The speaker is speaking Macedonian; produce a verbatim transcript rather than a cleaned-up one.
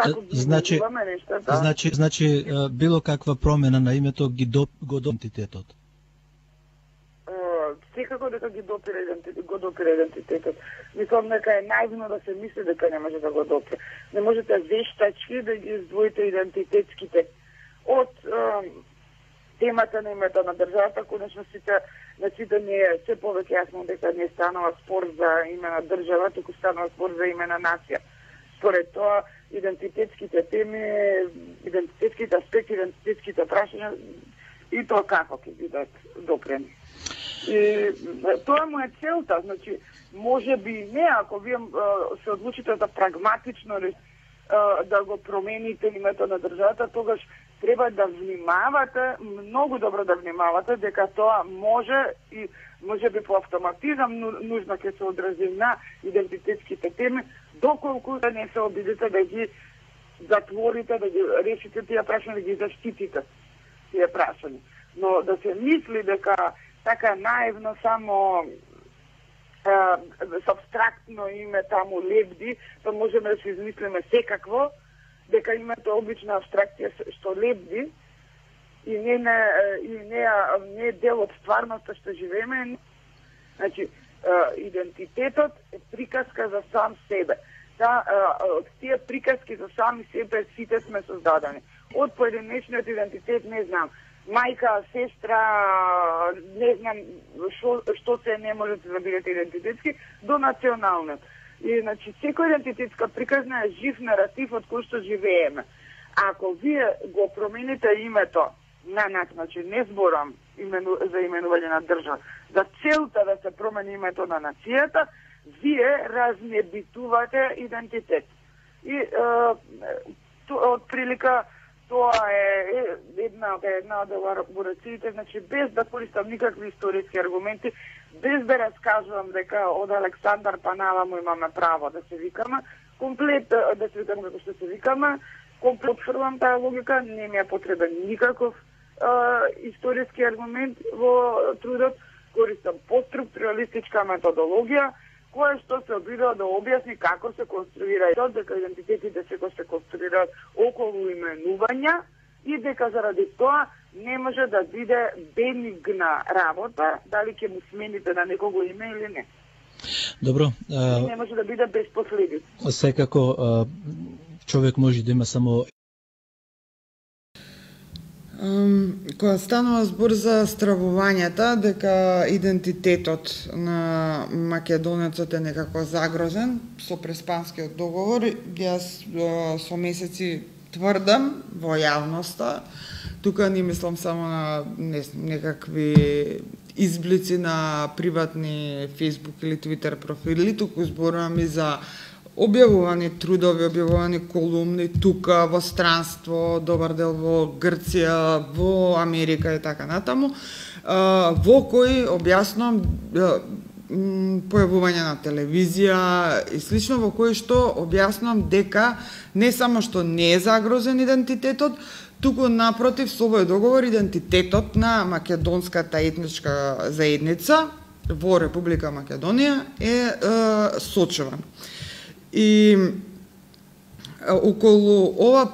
како ги значи, изменуваме нештата. Значи, значи било каква промена на името ги до, го до идентитетот? Секако дека ги допира идентитет, го допира идентитетот. Мислам дека е наивно да се мисли дека не може да го допира. Не можете вештачки да ги издвоите идентитетските од е, темата на името на државата. Конечно сите, на сите не е се повеќе јасно дека не станува спор за име на држава, туку станува спор за име на нација. Според тоа, идентитетските теми, идентитетските аспекти, идентитетските прашања и тоа како ќе бидат допрени. И тоа му е целта, значи, може би не, ако вие се одлучите да прагматично да го промените името на државата, тогаш треба да внимавате, многу добро да внимавате, дека тоа може и може би по автоматизам нужно ќе се одрази на идентитетските теми, доколку да не се обидите да ги затворите, да ги решите тие прашања, да ги заштитите тие прашања. Но да се мисли дека така наивно само с абстрактно име таму лебди, па можеме да се измислиме секакво, дека името обична абстракција што лебди и не, не, и не, не е дел од стварноста што живееме. Значи, идентитетот е приказка за сам себе. Та, од тие приказки за сами себе сите сме создадени. Од поединечниот идентитет, не знам, мајка, сестра, не знам шо, што се не можете да бидете идентитетски, до националниот. И, значи, секој идентитетска приказна е жив наратив од кој што живееме. Ако вие го промените името на нас, значи, не зборам имену, за именување на држава, за целта да се промени името на нацијата, вие разнебитувате идентитет. И, е, од прилика, тоа е една, една од елаборациите, значи без да користам никакви историски аргументи, без да раскажувам дека од Александар па наваму имаме право да се викаме, комплет да се викаме како што се викаме, комплет отфрлам таа логика, не ми е потребен никаков е, историски аргумент во трудот, користам постструктуралистичка методологија, која што се обидува да објасни како се конструира и дека идентитетите се се конструираат околу именувања и дека заради тоа не може да биде бенигна работа, дали ќе му смените на некого име или не. Добро. А... Не може да биде без последици. Секако човек може да има само Um, кога станува збор за стравувањата, дека идентитетот на македонецот е некако загрозен со Преспанскиот договор, јас со месеци тврдам во јавноста, тука не мислам само на не, некакви изблици на приватни Facebook или Twitter профили, туку зборувам и за објавувани трудови, објавувани колумни тука во странство, добар дел во Грција, во Америка и така натаму, во кои објаснувам појавување на телевизија и слично, во кои што објаснувам дека не само што не е загрозен идентитетот, туку напротив со овој договор идентитетот на македонската етничка заедница во Република Македонија е, е сочуван. И околу ова